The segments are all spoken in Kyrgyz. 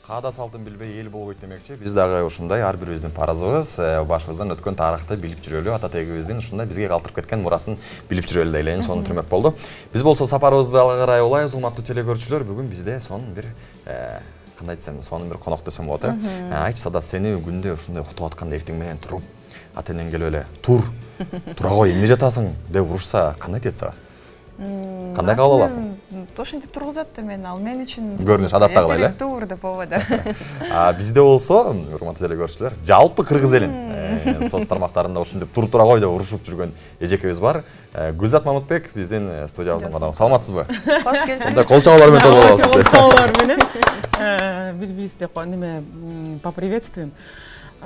Каада салтын билбей эл болбойт демекчи. Биз дагы ушундай ар бирибиздин парызыбыз, башыбыздан өткөн тарыхты билип жүрөлү, ата тегибиздин ушундай бизге калтырып кеткен мурасын билип жүрөлү деп элейин. Сону түрмөк болду. Биз болсо сапарыбызды алга карай улайбыз, урматтуу телекөрүүчүлөр. Бүгүн бизде сонун бир кандай десем, сонун бир конок десем болот, Айтчы Садат, сени күндө ушундай уктуп атканда эртең менен туруп, ата энең келип эле тура кой, эмне жатасың деп урушса, кандай тиет сага? Кандай кабыл аласың? Ошентип тургузат мен, ал мен үчүн көрүнүш адаттагылай эле. Тур деп болбойт. Бизде болсо, урматтуу телекөрүүчүлөр, жалпы кыргыз элин соц тармактарында ушинтип тура кой деп урушуп жүргөн эжекебиз бар. Гүлзат Мамытбек биздин студиябыздын коногу. Саламатсызбы? Кош келипсиз. Мындай кол чабуулар менен тоболобуз. Кол чабуулар менен бири-бирибизди неме поприветствуем.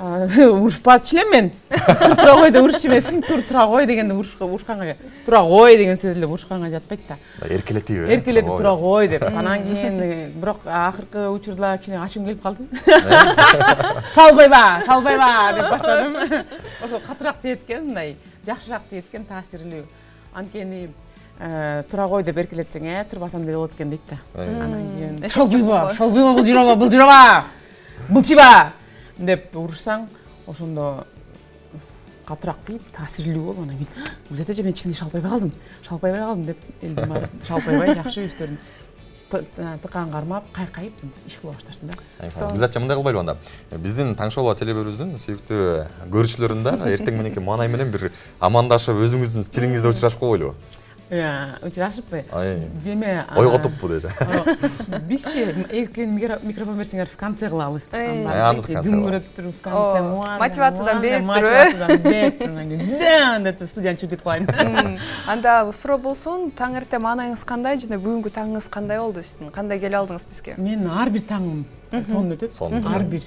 Урушпачу элем мен. Тура кой деп урушчу эмесмин. Тура кой дегенде урушканга, тура кой деген сөз эле урушканга жатпайт да. Эркелетиби? Эркелетип тура кой деп. Анан кийин бирок акыркы учурда кичине ачуум келип калды. Шалбайба деп баштадым. Ошо катыраак тиет экен, мындай жакшыраак тиет экен, таасирлүү. Анткени тура кой деп эркелетсең, турбасам деле болот экен дейт да. Анан кийин шалбайба, былчыба деп урушсаң, ошондо катыраак тийип, таасирлүү болуп, анан кийин Гүлзат эже мен чынын шалбайбай калдым деп элдин баары шалбайбай жакшы өздөрүн тыкаан кармап, кайкайып иш кыла башташты да. Гүлзат эже мындай кылбайлыбы анда? Биздин таң шоу телебөрүбүздүн сүйүктүү көрүүчүлөрүн да эртең мененки маанай менен бир амандашып, өзүңүздүн стилиңизде учурашып койбойлубу? Учурашыппы? Деме ойготуппу деже. Бизчи эркен микрофон берсеңер в конце кылалы. Дүңгүрөп туруп в конце. Мотивациядан берип туруп. Студияны чыгып кетип калайын. Анда суроо болсун, таң эртең маанайыңыз кандай жана бүгүнкү таңыңыз кандай болду сиздин? Кандай келе алдыңыз бизге? Мен ар бир таңым сонун өтөт. Ар бир.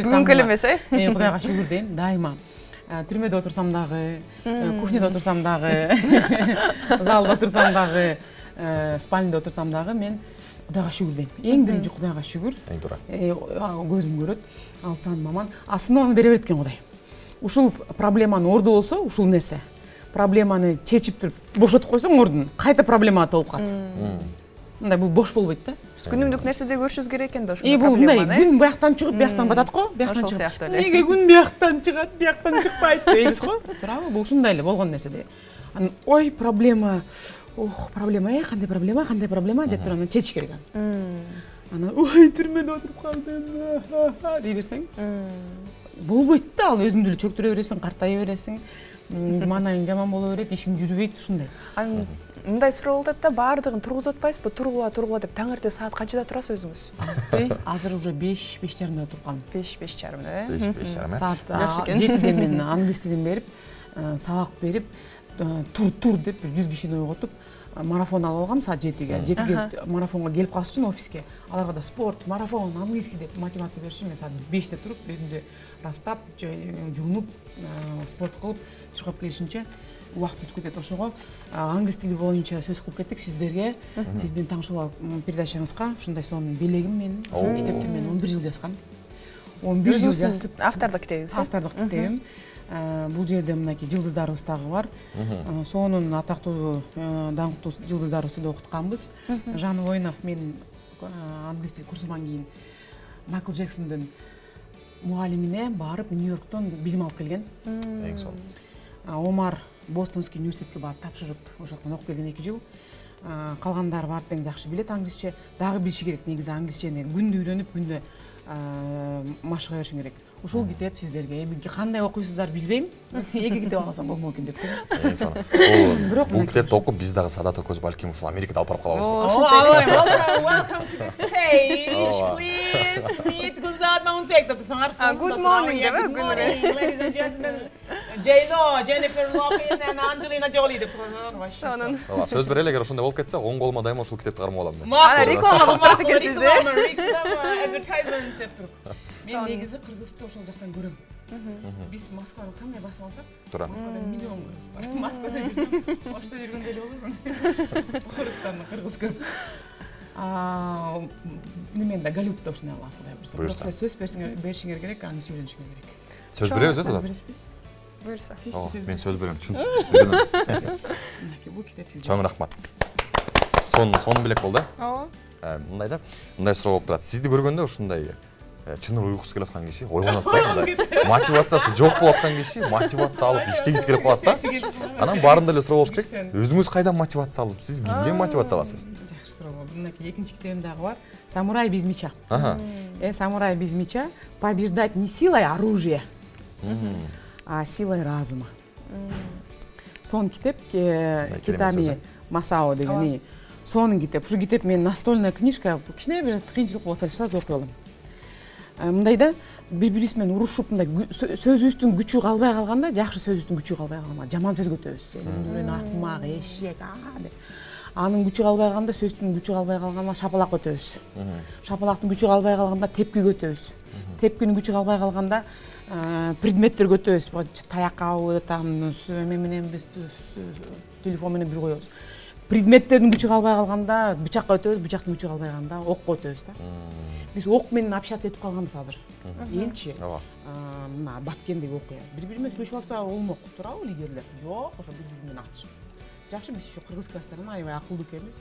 Бүгүнкү эле эмес, Кудайга шүгүр дейм, дайыма. Түрмөдө отурсам дагы, кухняда отурсам дагы, залда отурсам дагы, спальнада отурсам дагы мен Кудайга шүгүр дейм. Эң биринчи Кудайга шүгүр. Эң туура. Көзүм көрөт, алтсан маман. Основаны бере берет экен Кудай. Ушул проблеманын орду болсо, ушул нерсе. Проблеманы чечип туруп бошотуп койсоң ордун, кайта проблема толуп калат. Мындай бул бош болбойт да. Күнүмдүк нерседе көрүшүбүз керек экен да ошол проблеманы. Бул мындай күн бияктан чыгып, бияктан батат го, бияктан чыгып. Неге күн бияктан чыгат, бияктан чыкпайт дейбиз го? Туурабы? Бул ушундай эле болгон нерсе. Анан ой, проблема. Проблема, кандай проблема деп туруп анан чечиш керек. Анан ой, түрмөдө отуруп калдым дей берсең, болбойт да, ал өзүңдү эле чөктүрө бересиң, картая бересиң, маанайың жаман боло берет, ишиң жүрбөйт ушундай. Мындай суроо болот да, баардыгын тургузуп атпайсызбы? Тургула деп таң эртең саат канчада турасыз өзүңүз? Азыр уже 5:30 туруп калдым. 5:30, 5:30. Саат 7-де мен англис тилин берип, сабак берип, тур деп 100 кишини ойготуп, марафон алып алгам саат 7-ге. 7-ге марафонго келип калыш үчүн офиске. Аларга да спорт, марафон, английский деп мотивация бериш үчүн мен саат 5-те туруп, өзүмдү растап, жуунуп, спорт кылып, чуркап келишинче убакыт өткөзөт. Ошого англис тили боюнча сөз кылып кеттик сиздерге. Сиздин таң шоу передачаңызга ушундай сонун белегим менин, ушул китепти мен 11 жыл жазгам. 11 жыл жазып, автордук китебиз. Автордук китебим. Бул жерде мынакей жылдыздарыбыз дагы бар. Сонун атактуу, даңктуу жылдыздарыбызды да окутканбыз. Жан Воинов мен англис тил курсуман кийин Майкл Джексондун мугалимине барып Нью-Йорктон билим алып келген. Эң сонун. Омар Бостонский университетке барып тапшырып, ошол жактан окуп келген 2 жыл. Калгандары бар тең жакшы билет англисче, дагы билиши керек. Негизи англисчени күндө үйрөнүп, күндө машыга беришиң керек. Ушул китеп сиздерге кандай окуйсуздар билбейм. 2 китеп алсам болмок экен деп Эң сонун. Бул китепти окуп биз дагы Садат экөөбүз балким ушул Америкада алып барып калабызбы? Welcome to the stage. Please meet Гүлзат Мамытбек деп саңар. Good morning деп ladies and gentlemen. J-Lo, Jennifer Lopez and Angelina Jolie деп саңар. Сөз берели, эгер ошондой болуп кетсе, оң колума дайыма ушул китепти кармап алам мен. Реклама кылып турат экенсиз да? Реклама, advertisement деп туруп. Мен негизи кыргызды ошол жактан көрөм. Биз Москваны кандай басып алсак, Москвада миллион кыргыз бар. Москвада жүрсөң, Ошто жүргөндөй эле болосуң. Орустардын кыргыз көп. Мен да Голливудда ушундай аласың да бурса. Бирок сөз беришиңер керек, аны сүйлөнүшүңөр керек. Сөз беребиз да? Буюрса. Мен сөз берем, чын. Бул китеп сизде. Чоң рахмат. сон белек болду. Ооба. Мындай да, мындай суроо болуп турат. Сизди көргөндө ушундай чын уйкусу келип аткан киши ойгонот да, мындай мотивациясы жок болуп аткан киши мотивация алып иштегиси келип калат да. Анан баарында эле суроо болуш керек. Өзүңүз кайдан мотивация алып, сиз кимден мотивация аласыз? Жакшы суроо болду. Мынакей экинчи китебим дагы бар. Самурай без меча. Самурай без меча. Побеждать не силой оружия, а силой разума. Сонун китеп Китами Масао деген. Сонун китеп. Ушу китеп менин настольная книжка. Кичине бир кыйынчылык болсо эле окуй алам. Мындай да бири-бирибиз менен урушуп мындай сөзүбүздүн күчү калбай калганда, жакшы сөзүбүздүн күчү калбай калганда жаман сөз көтөбүз. Сен акмак, эшек деп. Анын күчү калбай калганда, сөздүн күчү калбай калганда шапалак көтөбүз. Шапалактын күчү калбай калганда тепки көтөбүз. Тепкинин күчү калбай калганда предметтер көтөбүз. Таякабы, менен биз телефон менен бир коебуз. Предметтердин күчү калбай калганда бычакка өтөбүз, бычактын күчү калбай калганда окко өтөбүз да. Биз ок менен общаться этип калганбыз азыр. Элчи. Мына Баткендеги окуя. Бири-бири менен сүйлөшүп алса болмок, туурабы лидерлер? Жок, ошо бири-бири менен ачышып. Жакшы, биз ошо кыргызская сторона аябай акылдуу экенбиз.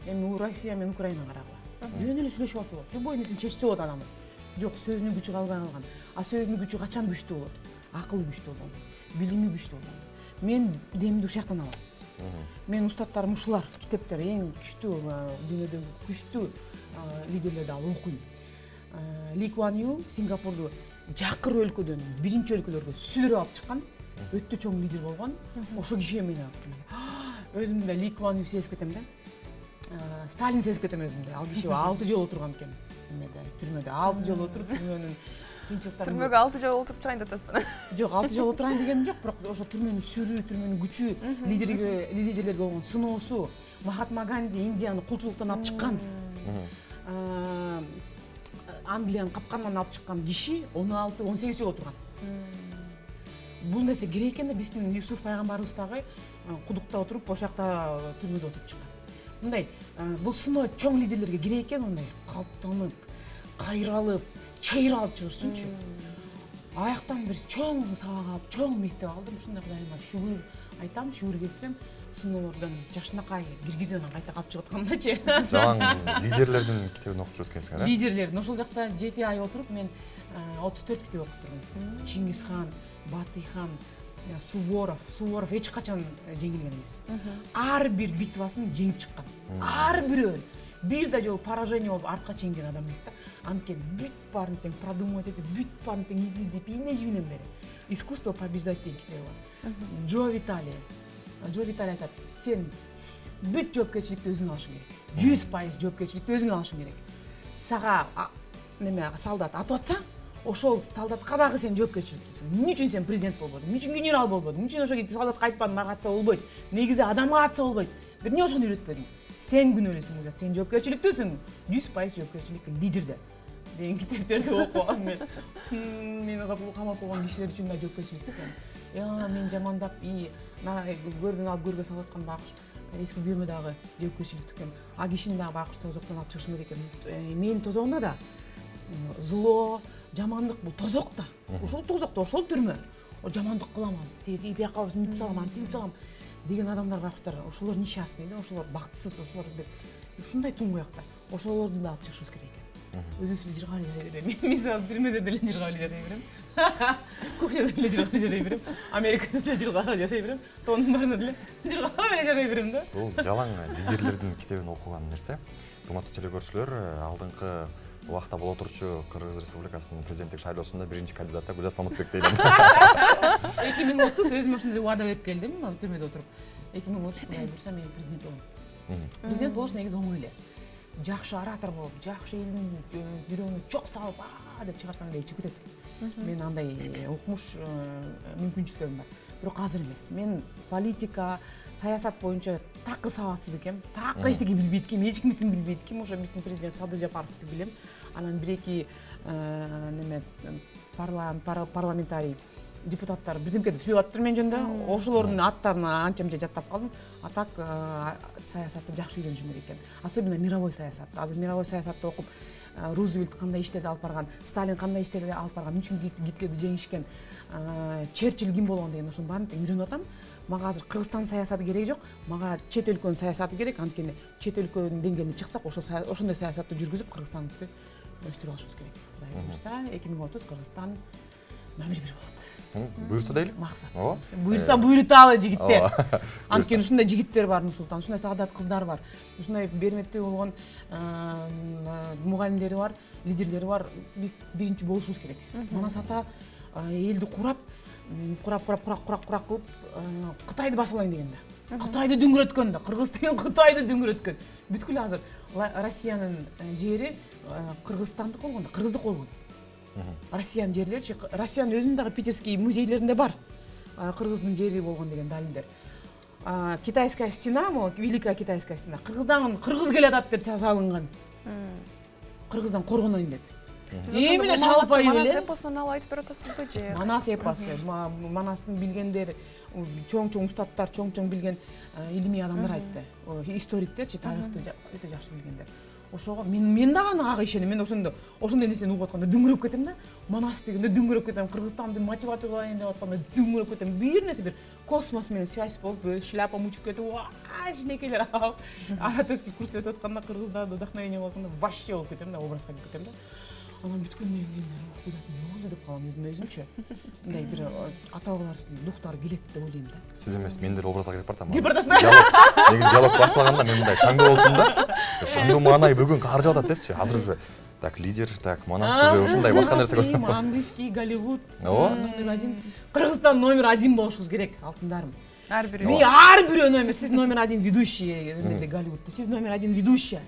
Эми Россия менен Украина карагыла. Жөн эле сүйлөшүп алса болот. Любой нерсени чечсе болот адамы. Жок, сөзүнүн күчү калбай калган. А сөзүнүн күчү качан күчтүү болот? Акылы күчтүү болгондо, билими күчтүү болгондо. Мен демди ушул жактан алам. Мен устаттарым ушулар, китептер эң күчтүү, дүйнөдөгү күчтүү лидерлерди алып окуйм. Ли Куан Ю Сингапурду жакыр өлкөдөн биринчи өлкөлөргө сүйлөп алып чыккан, өтө чоң лидер болгон. Ошо кишиге мен өзүм да Ли Куан Ю сезип кетем да. Сталин сезип кетем өзүмдү. Ал киши 6 жыл отурган экен. Түрмөдө 6 жыл отуруп, түрмөнүн кыйынчылыктарын. Түрмөгө 6 жыл отуруп чыгайын деп атасызбы? Жок, 6 жыл отурайын дегеним жок, бирок ошо түрмөнүн сүрүү, түрмөнүн күчү, лидерлерге болгон сыноосу, Махатма Ганди Индияны кулчулуктан алып чыккан. Англиянын капканынан алып чыккан киши 16-18 жыл отурган. Бул нерсе керек экен да, биздин Юсуф пайгамбарыбыз дагы кудукта отуруп, ошол жакта түрмөдө отуруп чыккан. Мындай бул сыноо чоң лидерлерге керек экен, ондай калптанып, кайралып, чыйралып чыгышсынчы. Аяктан бир чоң сабак алып, чоң мектеп алдым. Ушундай Кудайыма шүгүр айтам, шүгүр кетирем. Сыноолордон жакшынакай киргизенен кайта калып чыгып аткандачы. Жаңы лидерлердин китебин окуп жүрөт экенсиң, э? Лидерлердин ошол жакта 7 ай отуруп мен 34 китеп окуп турдум. Чингиз хан, Батый хан, Суворов эч качан жеңилген эмес. Ар бир битвасын жеңип чыккан. Ар бирөөн. Бир да жолу поражение болуп артка чегинген адам эмес да. Анткени бүт баарын тең продумать этип, бүт баарын тең изилдеп, ийне-жибинен бери. Искусство побеждать деген китеби бар. Джо Витали айтат, сен бүт жоопкерчиликти өзүң алышың керек. 100% жоопкерчиликти өзүң алышың керек. Сага солдат атып атса, ошол солдатка дагы сен жоопкерчиликтесиң. Эмне үчүн сен президент болбодуң? Эмне үчүн генерал болбодуң? Эмне үчүн ошо солдатка айтпадың, мага атса болбойт. Негизи адамга атса болбойт. Эмне ошону үйрөтпөдүң? Сен күнөөлүүсүң, сен жоопкерчиликтесиң. 100% жоопкерчилик лидерде. Деген китептерди окугам мен. Мени камап койгон кишилер үчүн да жоопкерчилик экен. Мен жамандап, көрдүн алып көргө салып аткан байкуш эски күйөөмө дагы жоопкерчилик экен. А кишини дагы байкуш тозоктон алып чыгышым керек экен. Менин тозогумда да зло, жамандык бул тозок да. Ошол тозокто, ошол түрмө. Жамандык кылам азыр, бияка мынтип салам, антип салам деген адамдар байкуштар, ошолор несчастный да, ошолор бактысыз, ошолор бир ушундай туңгуякта. Ошолорду да алып чыгышыбыз керек экен. Өзүбүз эле жыргап эле берем. Мисалы түрмөдө деле жыргап эле жашай берем. Кухняда деле жыргап эле жашай берем. Америкада деле жыргап эле жашай берем. Тоонун баарында деле жыргап эле жашай берем да. Бул жалаң лидерлердин китебин окуган нерсе. Урматтуу телекөрүүчүлөр, алдыңкы убакта боло турчу Кыргыз Республикасынын президенттик шайлоосунда биринчи кандидаты Гүлзат Мамытбек дейм. 2030 өзүм ошондой убада берип келдим, түрмөдө отуруп. 2030 мындай бурса мен президент болом. Президент болуш негизи оңой эле. Жакшы оратор болуп, жакшы элдин жүрөгүнө чок салып, деп чыгарсаң эле чыгып кетет. Мен андай окумуш мүмкүнчүлүктөрүм бар. Бирок азыр эмес. Мен политика, саясат боюнча такы сабатсыз экем. Такы эчтеке билбейт экем, эч кимисин билбейт экем. Ошо биздин президент Садыр Жапаровду билем. Анан бир-эки парламентарий депутаттар бирдемке деп сүйлөп атыптыр мен жөнүндө. Ошолордун аттарын анча-мынча жаттап калдым. А так саясатты жакшы үйрөнүшүм керек экен. Особенно мировой саясат. Азыр мировой саясатты окуп, Рузвельт кандай иштерди алып барган, Сталин кандай иштерди алып барган, үчүн Гитлерди жеңишкен, Черчилль ким болгон деген ошонун баарын үйрөнүп атам. Мага азыр Кыргызстан саясаты керек жок, мага чет өлкөнүн саясаты керек. Анткени чет өлкөнүн деңгээлине чыксак, ошондой саясатты жүргүзүп Кыргызстанды өстүрүп алышыбыз керек. Кудай буйрса, 2030 Кыргызстан номер 1 болот. Буйрса дейли? Максат. Буйрса буйруталы жигиттер. Ооба. Анткени ушундай жигиттер бар Нурсултан, ушундай саадат кыздар бар. Ушундай бермектүү болгон мугалимдери бар, лидерлери бар. Биз биринчи болушубуз керек. Манас ата элди курап кылып Кытайды басып алайын деген да. Кытайды дүңгүрөткөн да. Кыргыз деген Кытайды дүңгүрөткөн. Бүткүл азыр Россиянын жери Кыргызстандык болгон да, кыргыздык болгон. Россиянын жерлери, Россиянын өзүнүн дагы питерский музейлеринде бар. Кыргыздын жери болгон деген далилдер. Китайская стена, Великая Китайская стена. Кыргыз келатат деп салынган. Кыргыздан коргонойн деп. Эмне шалпай эле? Манас эпосунан алып айтып берип атасызбы же? Манас эпосу, Манастын билгендери, чоң устаттар, чоң билген илимий адамдар айтты. Историктерчи, тарыхты өтө жакшы билгендер. Ошого мен дагы ага ишенем. Мен ошондой нерсени угуп атканда дүңгүрөп кетем да. Манас дегенде дүңгүрөп кетем. Кыргызстанды мотивациялайын деп атканда дүңгүрөп кетем. Бир нерсе бир космос менен связь болуп, шляпам учуп кетип, жинекейлер алып, ораторский курс өтүп атканда Кыргыздарда вдохновение болуп атканда вообще болуп кетем да, образга кирип кетем да. Анан бүткүл мен куйдат деп калам өзүмчө. Мындай бир ата-бабаларыбыздын духтары келет деп ойлойм да. Сиз эмес, мен деле образга кирип бартам. Кирип бартасызбы? Негизи диалог башталганда мен мындай шаңдуу болчумун да. Шаңдуу маанай бүгүн каржып атат депчи. Азыр уже так лидер, так Манас уже ушундай башка нерсе көрүп. Английский, Голливуд, номер 1. Кыргызстан номер 1 болушубуз керек, алтындарым. Ар бирөө. Мен ар бирөө номер, сиз номер 1 ведущий, Голливудта. Сиз номер 1 ведущая.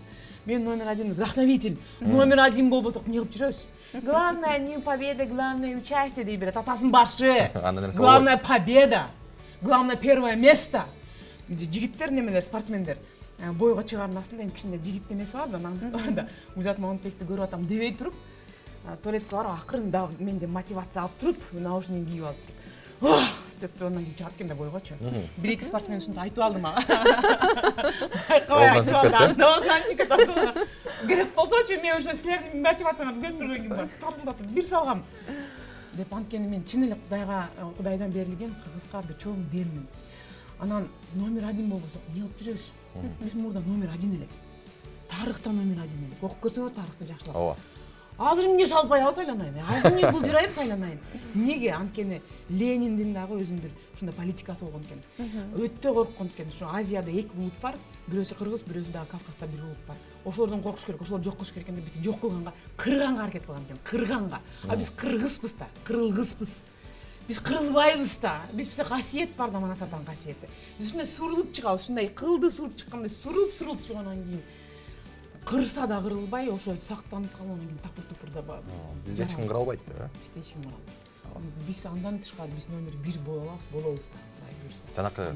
Мен номер 1 вдохновитель. Номер 1 болбосок эмне кылып жүрөбүз? Главное не победа, главное участие дей берет. Атасынын башы. Главная победа. Главное первое место. Жигиттер немелер, спортсмендер бойго чыгармасын эми кичине жигит немеси бар да, наңгысы бар да. Узат Мамытбекти көрүп атам дебей туруп, туалетке барып акырын да менде мотивация алып туруп, наушник кийип алып туруп, деп туруп анан кийин чыгат экен да бойгочу. Бир-эки спортсмен ушинтип айтып алды мага. Оозунан чыгып кетти. Керек болсочу мен ошо силердин мотивацияңарды көрүп турган кийин барып тарсылдатып бир салгам. Деп анткени мен чын эле Кудайдан берилген Кыргызга бир чоң бермин. Анан номер 1 болбосок эмне кылып жүрөбүз? Биз мурда номер 1 элек. Тарыхта номер 1 элек. Окуп көрсөңөр тарыхты жакшылап. Ооба. Азыр эмне шалпай сайланайын? Азыр эмне булжырайып сайланайын? Эмнеге? Анткени Лениндин дагы өзүнүн бир ушундай политикасы болгон экен. Өтө корккон экен. Ушу Азияда 2 улут бар. Бирөөсү кыргыз, бирөөсү дагы Кавказда бир улут бар. Ошолордон коркуш керек, ошолорду жок кылыш керек экен деп бизди жок кылганга, кырганга аракет кылган экен. Кырганга. А биз кыргызбыз да, кырылгызбыз. Биз кырылбайбыз да. Бизде касиет бар да, Манас атанын касиети. Биз ушундай сурулуп чыгабыз, ушундай кылды суруп чыккандай сурулуп чыгандан кийин кырса да кырылбай, ошо сактанып калгандан кийин тапыр-тупыр да бар. Бизде эч ким кыра албайт да. Бизде эч ким кыра албайт. Биз андан тышкары биз номер 1 болобуз да. Жанакы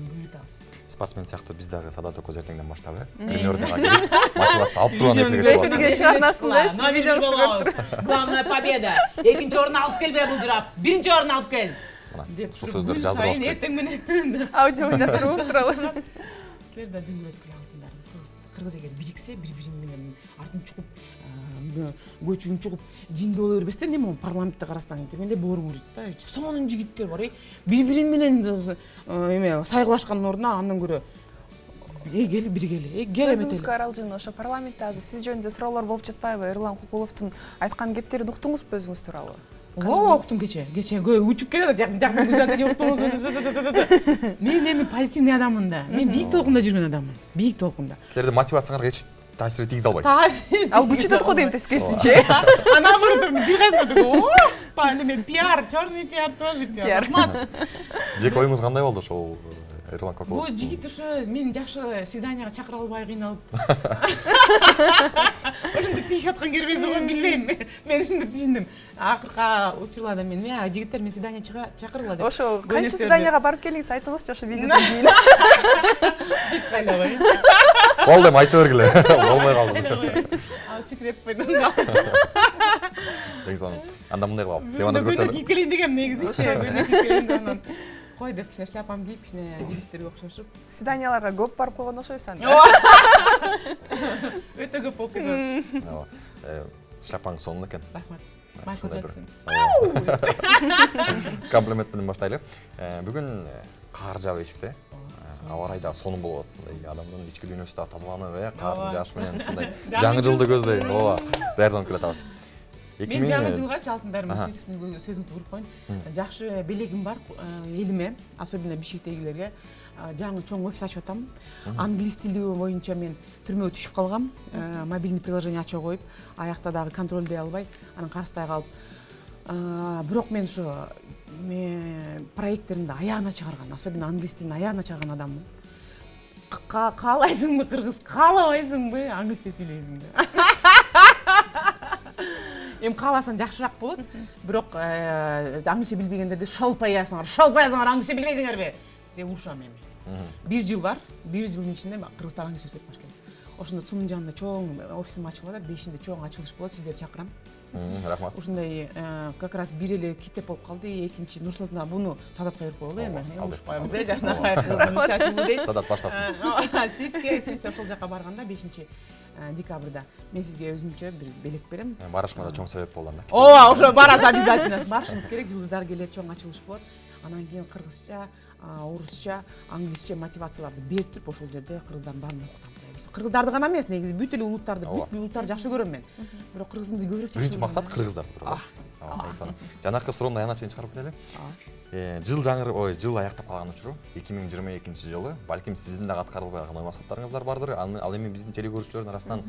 спортсмен сыяктуу биз дагы Садат Окоз эртеңден баштап, тренердерге келип мотивация алып турган эфирге Эфирге чыгарнасыз да, видеоңузду көрүп туруп. Главная победа. 2-нчи орун алып келбей булжырап, 1-нчи орун алып кел. Деп ушул сөздөрдү жаздырып алыш керек. Эртең менен Аудио жаздырып туралы. Силер да дүңгүрөткүл алтындарым. Кыргыз эгер бириксе, бири-бири менен артын чукуп, көчүн чугуп, динди боло бербестен эме парламентте карасаң тим эле бооруң урут да. Сонун жигиттер бар, бири-бири менен эме сайгылашкандын ордуна андан көрө кел бири кел. Сөзүңүзгө аралжын, ошо парламентте азыр сиз жөнүндө суроолор болуп жатпайбы? Эрлан Кукуловдун айткан кептерин уктуңузбу өзүңүз тууралуу? Ооба, уктум кече учуп келет, жакын узатып уктуңуз. Мен эми позитивный адаммын да. Мен бийик толкунда жүргөн адаммын. Бийик толкунда. Силердин мотивацияңарга эч таасир тийгизе албайт. Ал күчүнөт го дейм тескерисинче. Наоборот, жигазмадык. Мен пиар, чёрный пиар тоже пиар. Жеке оюңуз кандай болду ошол Эрлан Кукулов? Бул жигит ушу мени жакшы свиданияга чакыра албай кыйналып. Ошондой тийишип аткан кербеси го билбейм. Мен ушинтип түшүндүм. Акыркы учурларда мен жигиттер мен свидания чакыргыла деп. Ошо канча свиданияга барып келиңиз, айтыңызчы ошо видеодон кийин. Болду эми айта бергиле. Болбой калды. Ал секрет койдум. Негизи анда мындай кылабы. Теманы өзгөртөлү. Кийип келейин дегем негизичи. Кийип келейин анан кой деп кичине шляпамды кийип кичине жигиттерге окшошуп. Свиданияларга көп барып койгон окшойсуз анда. Өтө көп болуп кетет. Шляпаң сонун экен. Рахмат. Майкл Джексон. Комплимент менен баштайлы. Бүгүн кар жаап эшикте. Аба ырайда сонун болот. Адамдын ички дүйнөсү да тазаланып, кардын жаашы менен ушундай жаңы жылды көздөй. Ооба, даярданып келатабыз. Мен жаңы жылгачы алтындарым сиздин сөзүңүздү уруп коеюн. Жакшы белегим бар элиме, особенно бишкектегилерге. Жаңы чоң офис ачып атам. Англис тили боюнча мен түрмөгө түшүп калгам. Мобильный приложение ача коюп, аякта дагы контролдой албай, анан карыстай калып. Бирок мен ушу проекттеримди аягына чыгарган, особенно англис тилин аягына чыгарган адаммын. Каалайсыңбы кыргыз, каалабайсыңбы англисче сүйлөйсүңбү? Эми кааласаң жакшыраак болот. Бирок англисче билбегендерди шолпаясыңар, англисче билбейсиңерби деп урушам эми. 1 жыл бар. 1 жылдын ичинде кыргыздар англисче сүйлөп баш керек. Ошондо Цунун жанында чоң офисим ачылып атат. 5-inde чоң ачылыш болот. Сиздерди чакырам. Рахмат. Ушундай как раз бир эле китеп болуп калды. Экинчи Нурсултан буну Садатка берип коелу эми. Урушуп коебуз жашнабай кыздын чачыбы дейт. Садат баштасын. Сиз ошол жака барганда 5-декабрда мен сизге өзүмчө бир белек берем. Барышыма да чоң себеп болду анда. Ооба, ошо барасыз обязательно. Барышыңыз керек, жылдыздар келет, чоң ачылыш болот. Анан кийин кыргызча, орусча, англисче мотивацияларды берип туруп ошол жерде кыргыздардын баарын окутам. Кыргыздарды гана эмес, негизи бүт эле улуттарды, бүт улуттарды жакшы көрөм мен. Бирок кыргызды көбүрөөк жакшы көрөм. Биринчи максат кыргыздарды бирок. Жанакы суроомду аянат чейин чыгарып кетели. Жыл аяктап калган учуру 2022-жылы балким сиздин дагы аткарылбай калган ой максаттарыңыздар бардыр. Ал эми биздин телекөрүүчүлөрдүн арасынан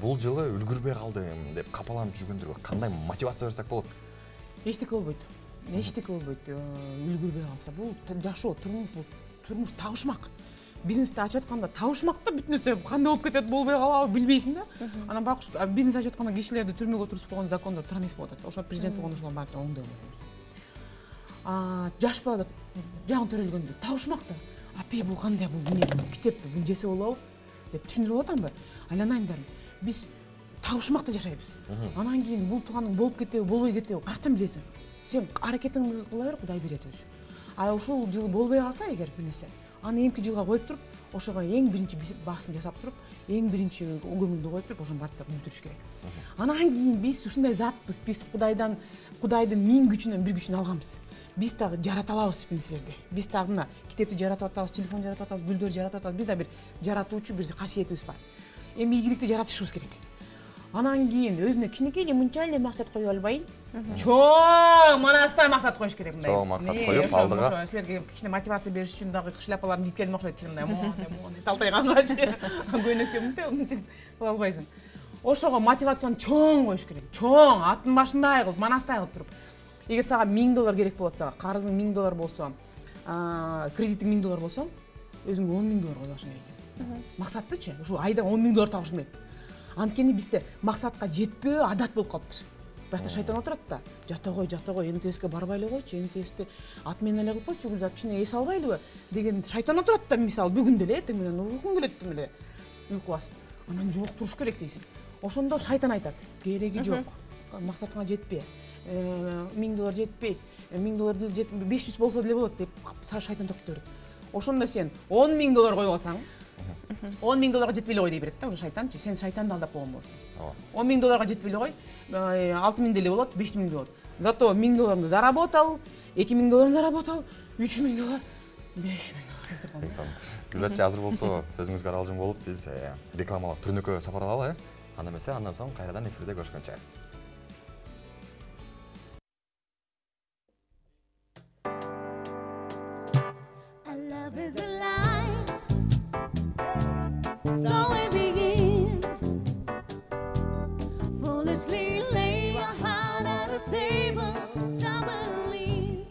бул жылы үлгүрбөй калдым деп капаланып жүргөндөргө кандай мотивация берсек болот? Эчтеке болбойт. Үлгүрбөй калса бул жашоо, турмуш табышмак. Бизнести ачып атканда табышмак да бүт нерсе кандай болуп кетет, болбой калабы билбейсиң да. Анан байкуш бизнес ачып атканда кишилерди түрмөгө отургузбогон закондор тура эмес болуп атат. Ошо президент болгондо ошолор баары оңдой болот. Жаш балада жаңы төрөлгөндө табышмак да. Апей бул кандай, бул эмне, бул китеппи, бул жесе болобу деп түшүндүрүп атамбы? Айланайымдар. Биз табышмакта жашайбыз. Анан кийин бул планың болуп кетеби, болбой кетеби каяктан билесиң? Сен аракетиңди кыла бер, Кудай берет өзү. Ушул жыл болбой калса эгер бир нерсе, аны эмки жылга коюп туруп, ошого эң биринчи басым жасап туруп, эң биринчи көңүлдү коюп туруп, ошонун баардыгын бүтүрүш керек. Анан кийин биз ушундай затпыз, биз Кудайдын 1000 күчүнөн 1 күчүн алганбыз. Биз дагы жарата алабыз бир нерселерди. Биз дагы мына китепти жаратып атабыз, телефон жаратып атабыз, гүлдөр жаратып атабыз. Биз да бир жаратуучу бир касиетибиз бар. Эми ийгиликти жаратышыбыз керек. Анан кийин өзүнө кичинекей эле мынча эле максат кое албай, чоң манастай максат коюш керек мындай. Чоң максат коюп, алдыга силерге кичине мотивация бериш үчүн дагы шляпаларын кийип келдим окшойт, кичине мындай талтайгангачы. Көйнөкчө мынтип кыла албайсың. Ошого мотивацияны чоң коюш керек. Чоң, аттын башындай кылып, манастай кылып туруп. Эгер сага $1000 керек болот, сага карызың $1000 болсо, кредитиң $1000 болсо, өзүңө $10,000 кое башың керек. Максаттычы, ушу айда $10,000 табышың керек. Анткени бизде максатка жетпөө адат болуп калыптыр. Башта шайтан отурат да. Жата кой, МТСке барбай эле койчу, МТСти ат менен эле кылып койчу, гүлзат кичине эс албайлыбы деген шайтан отурат да, мисалы бүгүн деле эртең менен уйкуң келет деле. Уйку басып. Анан жолуктуруш керек дейсиң. Ошондо шайтан айтат, кереги жок. Максатыңа жетпе. $1000 жетпейт. $1000 жетпей, 500 болсо деле болот деп шайтан токтоп берет. Ошондо сен $10,000 коюп алсаң, $10,000 жетпей эле кой дей берет да, уже шайтанчы. Сен шайтанды алдап койгон болосуң. $10,000 жетпей эле кой, 6000 деле болот, 5000 болот. Зато $1000 заработал, $2000 заработал, $3000, $5000. Гүлзатчы азыр болсо сөзүңүзгө аралжың болуп, биз рекламалык түрнөккө сапар алалы, анда эмесе андан соң кайрадан эфирде көрүшкөнчө. So we begin, foolishly lay your heart on the table, stumbling.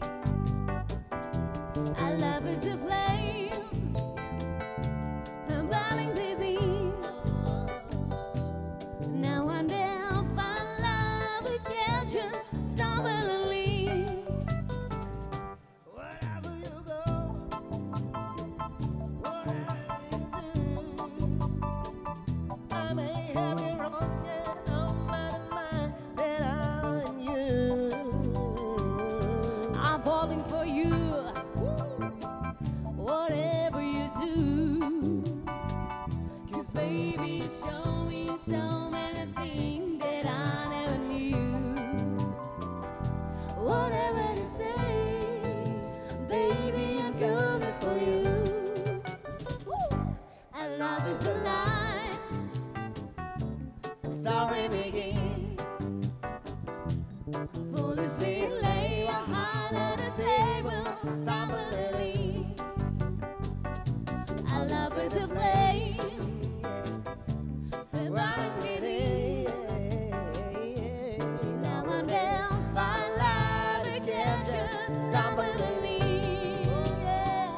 Our love is a flame, burning within. Now and then, find love, we can just stumbling. Wherever you go, I may have it wrong, yet on my mind that I'm you. I'm falling for you, whatever you do. 'Cause baby, you show me so many things that I never knew. Whatever you say, baby, you do me sorry begin. Foolishly lay your heart on the table, stumbling. Our love is a flame, burning within. Now and then, find love again, just stumbling. Yeah.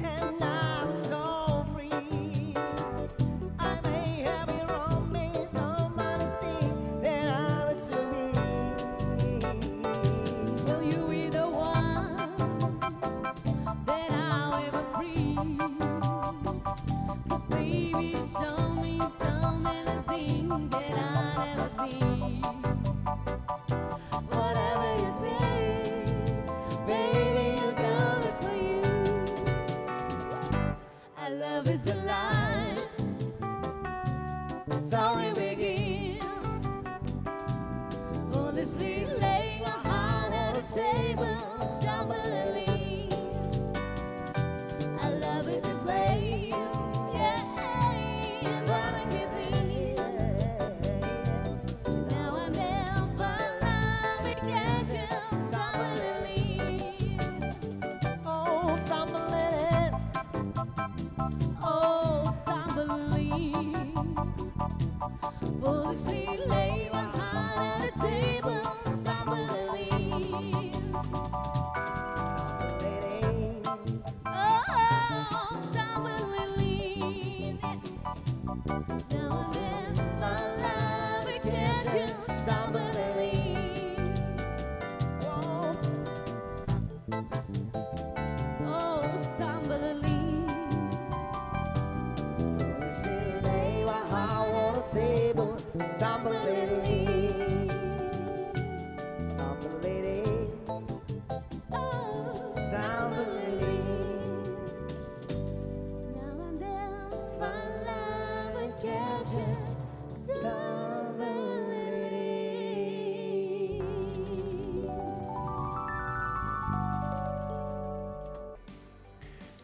And I'm so free. I may have been wrong, maybe somebody think that I would to me. Will you be the one that I'll ever free? 'Cause baby, show me so many things that I'll never be. Whatever you say, baby, you got it for you. Our love is a lie. Sorry, begin. Foolishly laying your heart on the table, stumbling. Our love is a flame, yeah, burning within. Now and then, find love and catch you stumbling. Oh, stumbling. Oh, stumbling. Foolishly lay my heart on the table, stumbling. Stumbling. Oh, stumbling. Now and then, my love will catch you stumbling. Oh, Oh, stumbling. foolishly lay my heart on the table, stumbling. Stumbling. Oh, Stumbling. now and then, find love and catch us stumbling.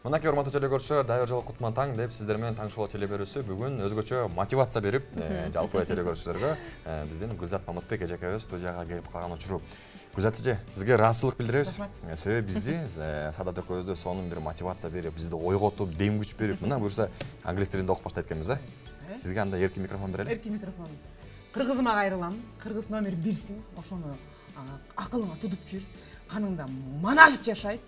Мынакей урматтуу телекөрүүчүлөр, дайыр жолу кутман таң деп сиздер менен таң шоу телеберүүсү бүгүн өзгөчө мотивация берип, жалпы телекөрүүчүлөргө биздин Гүлзат Мамытбек эжекебиз студияга келип калган учуру. Гүлзат эже, сизге ыраазычылык билдиребиз. Себеби бизди Садат экөөбүздү сонун бир мотивация берип, бизди ойготуп, дем күч берип, мына буюрса англис тилинде окуп баштайт экенбиз, Сизге анда эркин микрофон берели. Эркин микрофон. Кыргызыма кайрылам. Кыргыз номер 1сиң. Ошону акылыңа тутуп жүр. Каныңда Манас жашайт,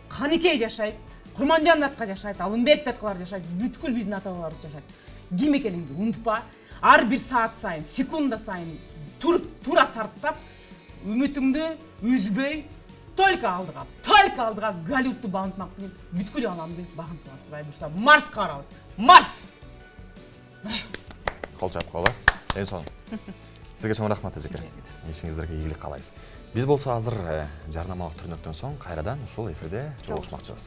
Каникей жашайт, Курманжан датка жашайт, Алымбек даткалар жашайт, бүткүл биздин ата бабаларыбыз жашайт. Ким экениңди унутпа. Ар бир саат сайын, секунда сайын тура сарптап, үмүтүңдү үзбөй, только алдыга Голливудту багынтмактын, бүткүл ааламды багынтабыз. Кудай бурса, Марска барабыз. Марс! Кол чап кола. Эң сонун. Сизге чоң рахмат эжеке. Ишиңиздерге ийгилик каалайбыз. Биз болсо азыр жарнамалык түрнөктөн соң кайрадан ушул эфирде жолугушмакчыбыз.